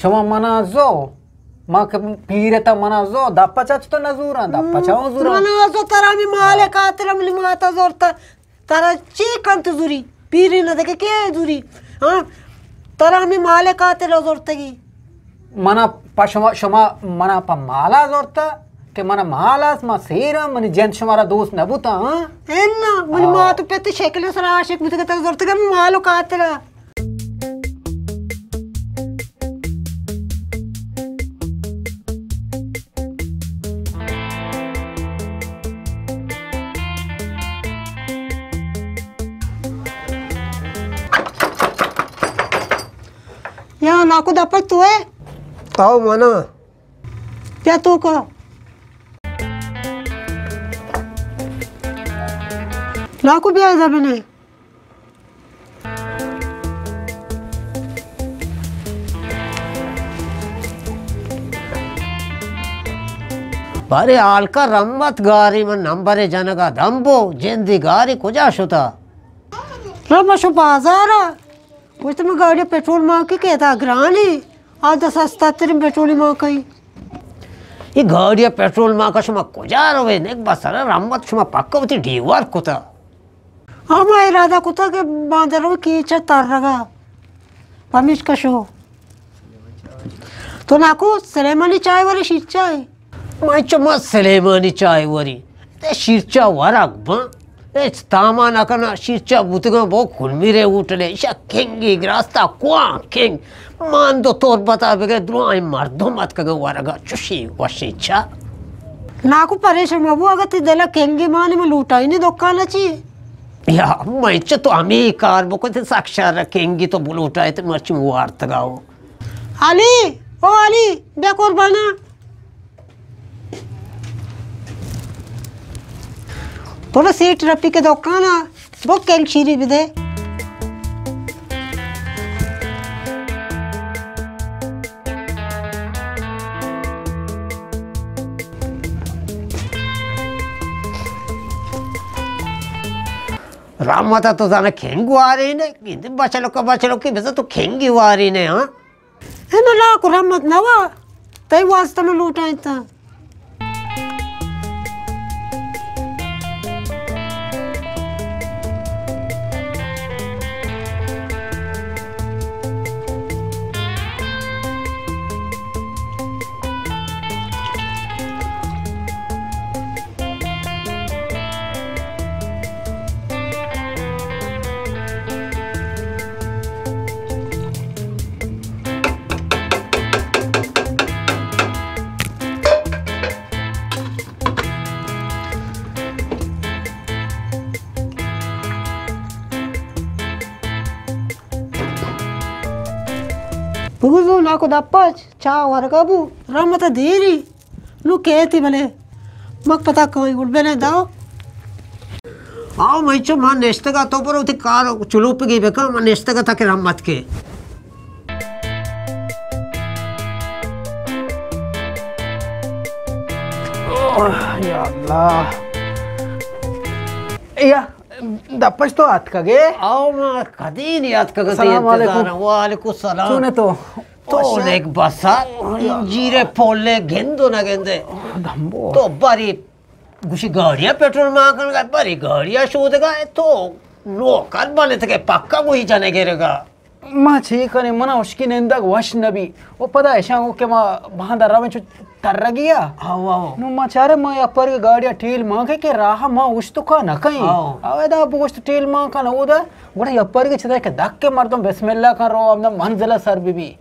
شما منا زو، ما کہ پیرتا منا زو، دپا چچ تو نزوراں، دپا چاو زوراں؟ منا زو ترا ہمیں مال خاطر منی ماتا زورتا، ترا چی کنت زوری؟ پیری نہ دگہ کے زوری؟ ہاں، ترا ہمیں مال خاطر زورتگی۔ منا پا شما، شما منا پا مالا زورتا کہ منا مال است، ما سیراں، منی جند شمارا دوست نبوتا، ہاں؟ انا، منی ہاں۔ مات و پت شکل سرا عاشق بوتگا، ترا زورتگا مال و خاطرا۔ یا ناکو دپک تو ہے؟ آؤ مانا۔ بیا تو کا۔ ناکو بیا ادا بنے۔ بارے ہالکا رحمت گاری من نمبر جنگا دمبو، جندی گاری کجا شتا؟ رحمت شو بازارا۔ گوشت من گاڑی پٹرول مانکی کہ ادا گرانی، آ دس سستا ترین پٹرولی مانکی۔ یہ گاڑی پٹرول مانکا شما کجا روے؟ نیک بسر رحمت شما پکا وتی ڈیوار کتا۔ ہما ارادہ کتا کہ باندر رو کیچا ترگا۔ پمیشکا شو۔ تو ناکو سلیمانی چائے ورے شیرچائے؟ من چو ما سلیمانی چائے وری۔ تے شیرچا ورگ بان۔ ہچ تاما نہ کناں، شیرچا بوتگاں بو کلمیرے ہوٹلے، ایشا کنگی گراستا کوان کنگ۔ مان دو تربتا بگے درائیں مردم اتکگاں ورگا چشیں وشیں چا۔ ناکو پریشان مبو، اگہ تی دلا کنگی مانے من لوٹائینی دکانا چی؟ یا، من چہ تو ہمے کار بکن، تی سک شر کنگی تو بلوٹائے تے مرچی وارتگا ہو۔ علی، او علی، بیا قربانا۔ برو سیٹ رفیق دکانا، بو کنگ شیری بدے۔ رحمت تو زانا کنگ واری نے، گندے بچلوکا بچلوکی بزا تو کنگی واری نے، ہاں؟ اے نہ لاکو رحمت نوا، تئی واسطہ من لوٹائینتا۔ بگو زو ناکو دپچ، چاہ ورگا بو، رحمت دیری۔ نو کیتی بلے مک پتا کوئی گل بنے داو۔ آو، من چو من نشتگا، تو برو تی کار چلوپگی بکن، من نشتگا تاکہ رحمت کے۔ اوہ، یا اللہ۔ یا، دپش تو آتکگے؟ آو، ما کدی نی آتکگا، تی سلام علیکم۔ انتظار۔ وعلیکم السلام۔ چون تو؟ تو وش۔ نیک بسا، انجیرے پولے گندو نہ گندے۔ دمبو۔ تو بری گوشی گاڑیا پٹرول مان کنگا، بری گاڑیا شودگا، تو نوکر بنتگے پکا گوشی جنے گرگا۔ ما چے کنیں، منا ہشکی نندگ وش نبی۔ و پدا اشاں گو کہ ما باندا رویں چو ترگیا۔ ہاو، ہاو۔ نو ما چارے ما یا پر گاڑیا ٹیل مان کے کہ راہ ما اوشتو کا نہ کئیں۔ ہاو۔ او ادا بوشت ٹیل مان کن اودا، گڑا یا پر چدا کہ دک کے مردم بسم اللہ کن رو، ہمدا منزل سر بی بی۔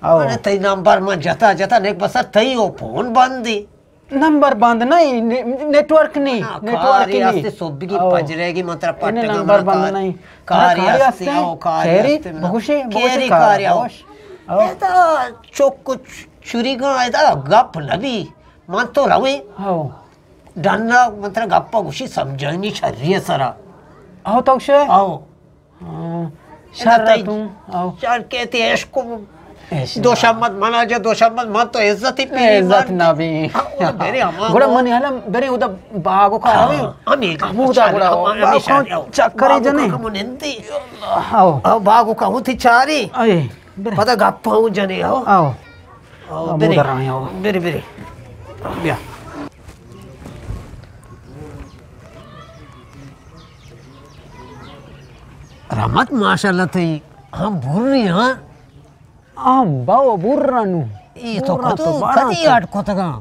ہاو۔ ارے تئی نمبر من جتا جتا نیک بسر تئی او فون بندی۔ نمبر بند نہ، نے-، نیٹورک نی، نا، نیٹورک کاری نی۔ ہستے صبح کی او۔ پجرے کی من ترا پٹگا نمبر بند نہ۔ کاری ہستے، او کاری ہستے۔ بگوشے، بگوشے کاری کاری آؤ۔ آؤ۔ اے تا چوک چ-، چوری گا اے تا گپ نبی۔ من تو رویں۔ او۔ ڈنا من ترا گپا گوشی سمجھانی شری سرا۔ او تو شے؟ او۔ ہاں، شر تئی توں، آؤ۔ شر کہتے عشق کو عشق۔ دوشمت منا جا، دوشمت من تو عزت ہی پی عزت نہ بھی۔ ہاں، او برے ہما گڑا کو۔ منی حالا برے ادا باغو کا ہاں، ہوی۔ ہمیں ہمودا شر، گڑا ہم-، ہمیں باغو شر، آؤ۔ چکرے باغو جنے۔ کا ہم نندی۔ آؤ۔ آؤ، باغو کا ہوتی چاری۔ اے۔ پدا گپ ہوں جنے ہو۔ آؤ۔ آؤ، آؤ، برے۔ مدر آئے ہو۔ برے، برے۔ بیا۔ رحمت، ماشاءاللہ تئی ہم بری ہاں۔ ہم باو برا نو۔ ای تو برا کتو تو بارا کدی تو۔ اڈ کتگا؟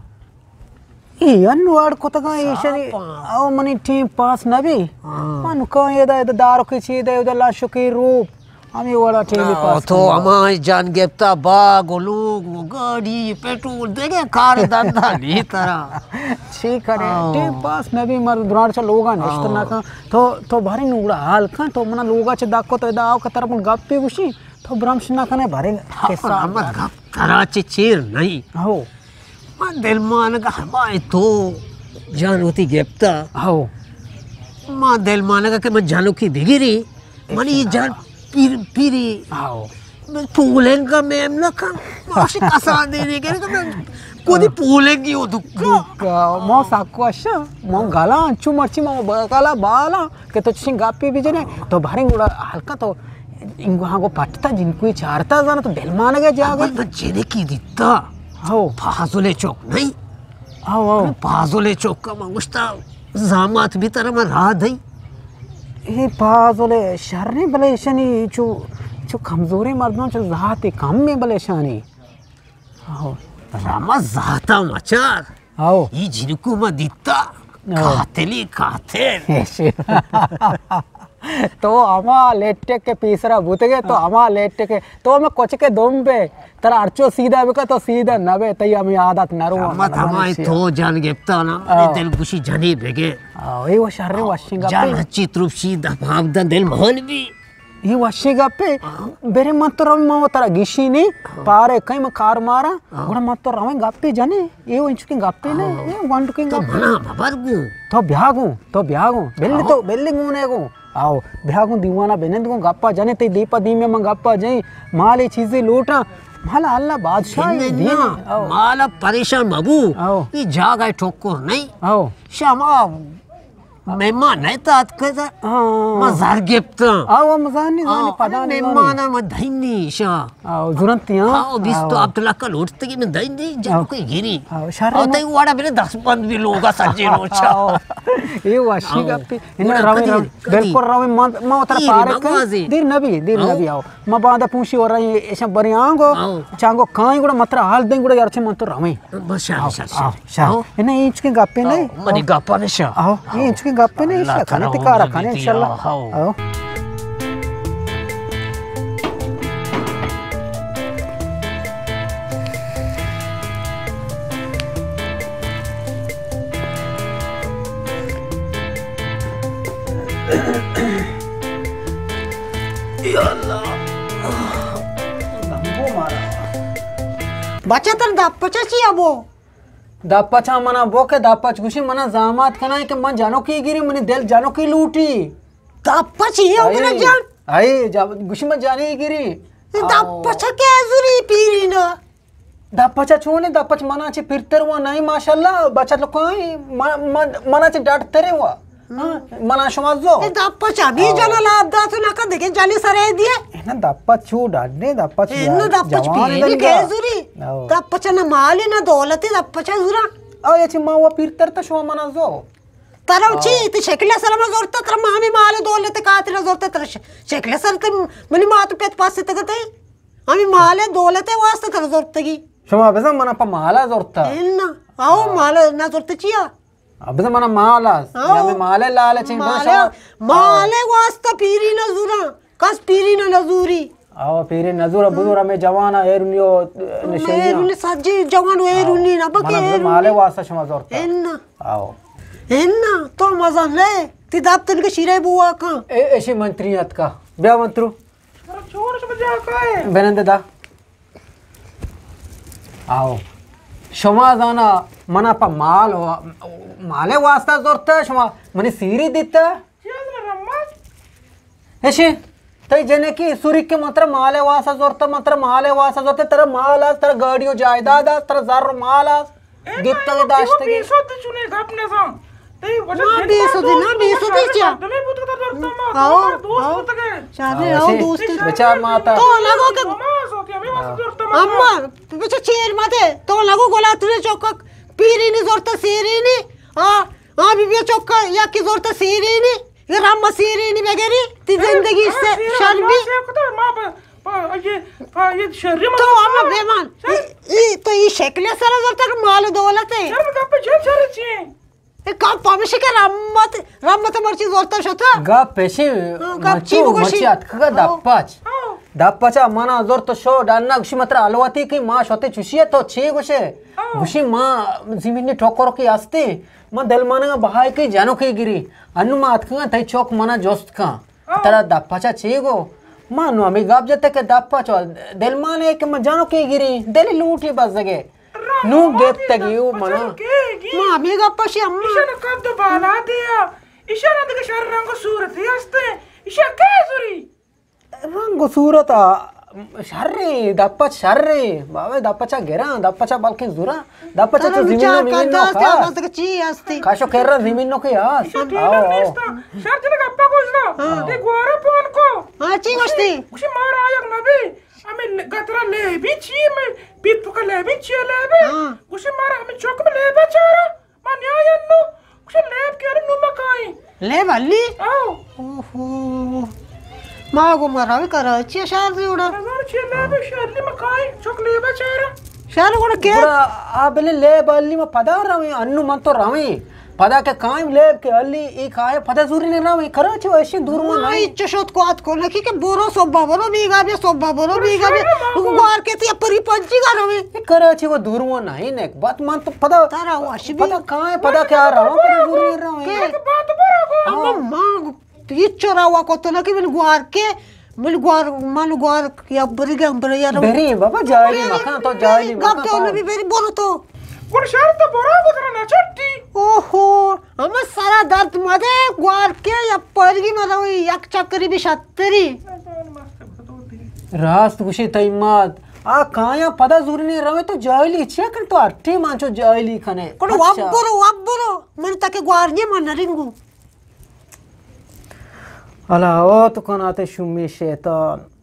ای انو اڈ کتگا، ای شری۔ او منی ٹیم پاس نبی۔ ہاں۔ من کاں ادا، ادا دارو کی چی دے، ادا لاشو کی روپ۔ ہمیں وڑا ٹیم پاس تو کنگا۔ ہما جان گپتا، باغ و لوگ و گاڑی، پیٹرول، دیگه کار دندا نہیں ترا۔ چی کرے؟ ہاں۔ ٹیم پاس نبی، مر دران چا لوگا نشت ہاں۔ نہ کن۔ تو، تو بھاری نوڑا حال کن، تو منا لوگا چا دکو تو ادا آو کہ ترا من گپی گوشی۔ تو برمش نہ کنے، بارے ہاں، قصہ احمد گپ ترا چہ چیر نہیں۔ ہو۔ من دلمانگا ہمائے تو جان وتی گپتا۔ ہو۔ من دلمانگا کہ من جانوکی بگری، من یہ جان پیر، پیری۔ ہو۔ من پولنگا میم نہ کن۔ ماشی کسان دے دے کرے کہ من کودی پولنگی ہو دکا۔ دکا۔ مو ساکو اشا، مو گالا انچو مرچی مو گالا بالا۔ کہ تو چشیں گپے بجنے، تو باریں گڑا ہلکا تو انگو ہاں گو پٹتا جنکوی چارتا زانا تو دلمانگا جاگا۔ اول من جنکی دیتا۔ ہو۔ فاضل چوک نہیں۔ ہو، ہو۔ فاضل چوک کا من گوشتا زامات بھی ترا من راہ دئی۔ اے فاضل شر نہیں بلے اشنی چو، چو کمزوریں مردم چو ذات کم میں بلے اشانی۔ ہو۔ رما ذاتا مچار۔ ہو۔ ای جنکو ما دیتا۔ ہو۔ قاتلی قاتل۔ تو ہما لیٹک کے پیسرا بوتگے، تو ہما لیٹک کے، تو ہمیں کچھ کے دم بے، ترا ہرچو سیدھا بکا تو سیدھا نہ بے، تئی ہمیں عادت نہ رو۔ رما ہمائی تو جان گپتا نا، ہو۔ دل گوشی جنی بگے۔ ہو، ای وہ شر وشنگا جان پہ۔ ہچی تروپشی دباب دا دل مہل بھی۔ اے وشیں گپے، ہاں۔ برے من تو رویں، من ترا گیشی نی، ہاں۔ پارے کئی من کار مارا، ہاں۔ گڑا من تو رویں گپے جنے، اے انچکیں گپے نے، ہاں۔ اے گونڈکیں تو گپے۔ منا مبر گوں۔ تو بیا گوں، تو بیا گوں۔ بلے ہاں۔ تو، بلے گوں نے گوں۔ آؤ، بیا گوں دیوانا بنند گوں گپا جنے، تئی دیپا دیمے من گپا جائیں، مال اے چیزے لوٹاں، مال اللہ بادشاہ اے نہ، دین۔ نہ، آؤ۔ مال پریشان مبو۔ آؤ۔ اے جاگہ ٹھوکر نہیں۔ آؤ۔ شما مہمان نہ ات اتکگ، ہاں۔ ما زر گپتاں۔ آ، و مزانی، زانی، آ، پدا نی مہمان ما دینی شا۔ آ، زرنتی، ہاں۔ آ، بیست و ہفت لکھ لوٹتگی من دینی، جب کوئی گری۔ آ، شر آ، تئی وڑا میرے دست بند بھی لوگا سجے روچا۔ آ، اے واشی گپی۔ انہاں رویں، رویں۔ بالکل رویں، ما، ما اترا پارے کن۔ دیر نبی، دیر نبی آؤ۔ ما باندا پوشی ورا ایں، ایشاں بریں آنگو، آؤ۔ چانگو کائیں گڑا مترا حال دیں گڑا یار چہ من تو رویں۔ بس شر، آؤ، شر، شر۔ آؤ، شر۔ آؤ۔ انہیں اینچکیں گپے نہیں۔ آؤ، منی گپا نشا۔ آؤ، اینچکیں گپے نہیں، اللہ شر، تعالی کنے تکارا کنے، انشاءاللہ۔ آؤ۔ آؤ۔ یا اللہ۔ بچہ تر دپ پچا چی ابو؟ دپ پچا منا بو کہ دپ پچ گوشی منا زامات کنائیں کہ من جنوکی گیری، منی دل جنوکی لوٹی۔ دپ پچ یہ ہو گرا جان؟ اے، جا-، گوشی من جانی گیری۔ دپ پچا کہ زوری پیری نا۔ دپ پچا چونے، دپ پچ منا چہ پیرتر وا نہیں، ماشاءاللہ، بچت لکھائیں، م-، م-، منا چہ ڈاڈترے وا۔ ہاں، منا شما زو۔ اے دپ پچ ہمیں جنا لاب دات نہ کن، دیکھیں جنی سرے دیے۔ اے نا دپ پچ چو ڈاڈنے، دپ پچ اے نا دپ پچ جوانے پیری دنگا۔ کہ زوری۔ آؤ۔ دپ پچ نہ مالی نہ دولتی، دپ پچ زورا۔ آؤ، یہ چی ما وا پیرتر تا شما منا زو۔ ترا چی، تی شکل سر ما زورتا، ترا ما ہمیں مال دولت خاطر زورتا، ترا ش-، شکل سر تی منی مات پت پاس تگتے۔ ہمیں مال دولت واسطہ تر زورتگی۔ شما بزن منا پا مالا زورتا۔ انا، آؤ، مال نہ زورتا چیا؟ بزن منا مال است۔ آؤ۔ ہمیں مال لالچیں، بزن مال، شما مال واسطہ پیری نہ زورا، کس پیری نہ نزوری۔ آؤ، پیری نزورا، بزور ہمیں جوانا ایرونی و نشئی۔ ایرونی سجی جوان و ایرونی نہ بکے منا بزن مال واسطہ شما زورتا۔ انا۔ آؤ۔ انا، تو مزن لے، تی دب تن کے شیرے بوا کن۔ اے، ایشی منتری اتکا۔ بیا منترو۔ بنند دا۔ آؤ۔ شما زانا منا پا مال و-، مالے واسطہ زورتا، شما منی سیری دیتا۔ ایشی، تئی جنکی سوری کہ من ترا مالے واسطہ زورتا، من ترا مالے واسطہ زورتا، ترا مال است، ترا گاڑی و جائیداد است، ترا زر و مال است۔ گپتگ داشتگی۔ پیسو تو چونے گپ نزان۔ ما بے سدی نا، بے سدی چیا؟ آؤ، آؤ۔ شادی آؤ دوست۔ بچار ماتا۔ تو لگو کہ اما، بچا چیر مدے۔ تو لگو گلا ترے چوکا پیرینی زورتا سیرینی۔ آ، آ بی بی چوکا یا کی زورتا سیرینی۔ یہ رام سیرینی بگری۔ تی زندگی سے شرمی۔ تو اما بے مان۔ ای، ای تو ای شکل سر زورتا کہ مال دولت ہے۔ شرم گپ جن شر چی؟ اے گپ ہمیشی کہ رحمت، رحمت مرچی زورتا شتا۔ گپ پیشی ہاں، گپ چی مچو، بگوشی؟ مچی اتکگا ہاں۔ دپچ۔ ہاں۔ دپچا منا زورت شو ڈنا گوشی مترا الواتی کہ ما شوتے چوشی ہے تو چی گوشے؟ ہاں۔ گوشی ما زمینی ٹوکر کی ہستی، ما دل مانگا بہائی کی جنو کی گری۔ انو ما اتکگا تئی چوک منا جوست کن۔ ہاں۔ ترا دپچا چی گو؟ ما نو ہمیں گپ جتے کہ دپچا دل مانے کہ ما جنو کی گری، دل لوٹی بزگے۔ نوں گپتگی او منا۔ ما ہمے گپ ء شی اما۔ ایشان قد و بالا دیا۔ ایشان دگہ شر رنگ و صورتی ہستے۔ ایشان کئے زوری؟ رنگ و صورت ء شریں، دپچ شریں۔ بابا دپچا گراں، دپچا بلکیں زوراں۔ دپچا تو زمین نو مین نو خاص۔ چی ہستی؟ کاشو کرا زمین نو کے ہاس۔ ایشان ٹھیک نیستا۔ شر جنگ گپا گوشنا۔ ہاں۔ تے گوارا پون کو۔ ہاں، چی گوشتی؟ گوشی مارا آیگ نبی۔ ہمیں گترا لیبی چی؟ میں پیپکا لیبی چی لیبی؟ ہاں۔ گوشی مارا ہمیں چوک میں لیبا چارا۔ ما نیا ینو۔ گوشی لیب کے ارے نو مکائیں۔ لیب علی؟ آؤ۔ اوہو۔ ما گو مراوی کراچی شہر زیوڑا۔ نظر چی لیب شہر علی مکائیں۔ چوک لیبا چارا۔ شہر گوڑا کے؟ گڑا آ بلے لیب علی ما پدا رویں، انو من تو رویں۔ پدا کہ کائیں لیب کے علی، ای کائے پدا زوری نے رویں۔ کراچی و ایشی دور ما نہیں۔ چشوت کو آت کو نکی کہ برو صبح برو بیگا بیا، صبح برو بیگا بیا۔ گوار کے تی پری پنچی گا روی۔ اے کراچی و دور و نہیں نک۔ بات من تو پدا، ترا وش بی۔ پدا کائیں، پدا کیا رہا، پدا دور و رہا۔ اما ما تو یہ چرا وا کو تو نکی من گوار کے، من گوار، من گوار یا بری گم بری یا رو۔ بری بابا جاہلی مکان تو جاہلی مکان گپ تو۔ نبی بری برو تو۔ گڑ شہر تو برا گزرا نہ چٹی۔ اوہو، ہمے سرا درد مدے، گوار کے یا پرگی مدے، یک چکری بھی شتری۔ راست گوشے تئی مات، آ کایاں پدا زورنے روے تو جاہلی چیا کن تو ہر ٹیم آنچو جاہلی کنے۔ کڑو واب برو، واب برو، من تک گوار نیے من نرنگو۔ الا او تو کناتے شومی شیطان۔